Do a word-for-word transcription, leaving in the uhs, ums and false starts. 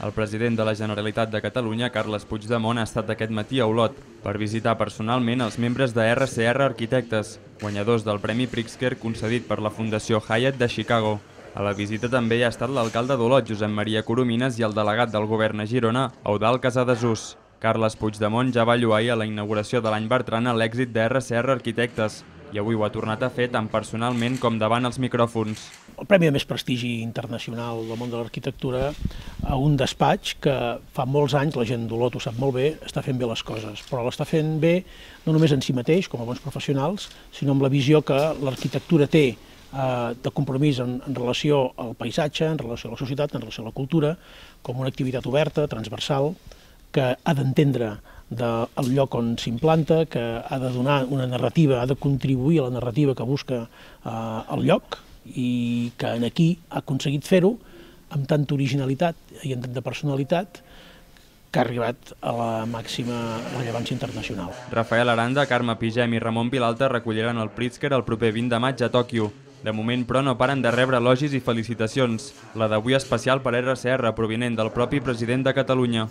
El president de la Generalitat de Catalunya, Carles Puigdemont, ha estat aquest matí a Olot per visitar personalment els membres de erre ce erre Arquitectes, guanyadors del Premi Pritzker concedit per la Fundació Hyatt de Chicago. A la visita també hi ha estat l'alcalde d'Olot, Josep Maria Coromines, i el delegat del govern a Girona, Eudald Casadesús. Carles Puigdemont ja va lloar ahir a la inauguració de l'any Bertrana l'èxit de erre ce erre Arquitectes i avui ho ha tornat a fer tant personalment com davant els micròfons. El premi de més prestigi internacional del món de l'arquitectura a un despatx que fa molts anys, la gent d'Olot ho sap molt bé, està fent bé les coses, però l'està fent bé no només en si mateix, com a bons professionals, sinó amb la visió que l'arquitectura té de compromís en, en relació al paisatge, en relació a la societat, en relació a la cultura, com una activitat oberta, transversal, que ha d'entendre del lloc on s'implanta, que ha de donar una narrativa, ha de contribuir a la narrativa que busca eh, el lloc i que aquí ha aconseguit fer-ho amb tanta originalitat i amb tanta personalitat que ha arribat a la màxima rellevància internacional. Rafael Aranda, Carme Pigem i Ramon Vilalta recolliran el Pritzker el proper vint de maig a Tòquio. De moment, però, no paren de rebre elogis i felicitacions. La d'avui especial per erre ce erre, provinent del propi president de Catalunya.